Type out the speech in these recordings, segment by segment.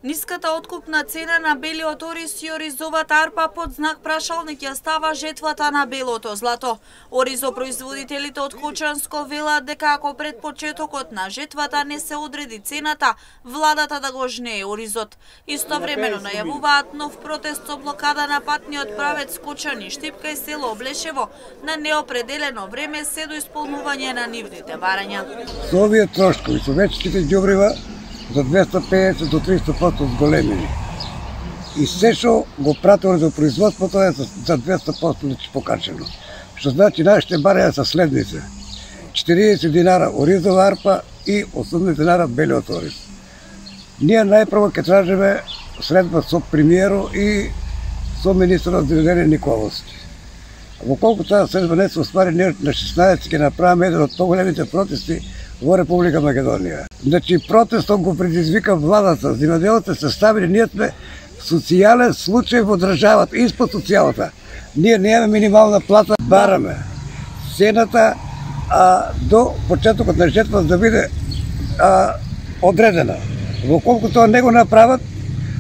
Ниската откупна цена на белиот ориз и оризовата арпа под знак прашалник ја става жетвата на белото злато. Оризопроизводителите од Кочанско велат дека ако пред почетокот на жетвата не се одреди цената, владата да го жнее оризот. Истовремено најавуваат нов протест со блокада на патниот правец Кочани Штипка и село Блешево на неопределено време се до исполнување на нивните барања. Со овие трошкови, со вечките ѓубрива, за 250 до 300% зголемени. И се што го пратило за производството е за 200% покачено. Што значи нашите барања се следните: 40 динара оризова арпа и 80 динара белиот ориз. Ние најпрво ќе тражиме средба со премиерот и со министерот за земјоделие Николовски. Во колку таа средба не се оствари, ние на 16 ќе направиме еден од поголемите протести во Република Македонија. Значи, протестот го предизвика владата, земјоделците се ставили, ние сме социјален случај во државата, испод социјалата. Ние немаме минимална плата, бараме цената до почетокот на жетва да биде одредена. Во колку тоа не го направат,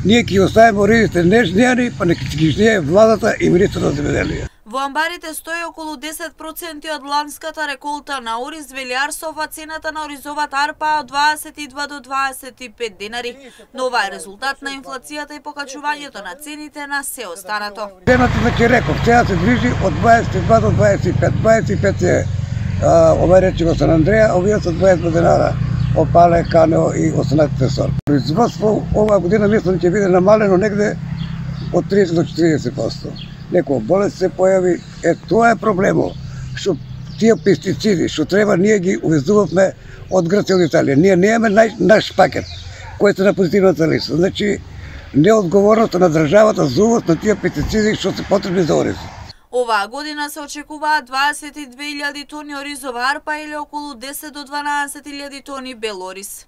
ние ќе оставиме оризите нежнеани, па нека ги жнее владата и министерот за земјоделие. Во амбарите стои околу 10% од ланската реколта на ориз, вели Арсов, а цената на оризовата арпа од 22 до 25 динари. Но ова е резултат на инфлацијата и покачувањето на цените на се останато. Цената, значи реков, цена се движи од 22 до 25. 25 е ова речиво Сан Андреја, овие се 22 динара. Опале, Канео и 18 сор. Производство оваа година мислам ќе биде намалено негде од 30 до 40%. Некоја болест се појави, тоа е проблемот. Што тие пестициди, што треба, ние ги увезувавме од Грција, од Италија. Ние немаме наш пакет, кој е на позитивната листа. Значи, неодговорноста на државата за увоз на тие пестициди што се потребни за ориз. Оваа година се очекуваат 22.000 тони оризова арпа или околу 10 до 12.000 тони бел ориз.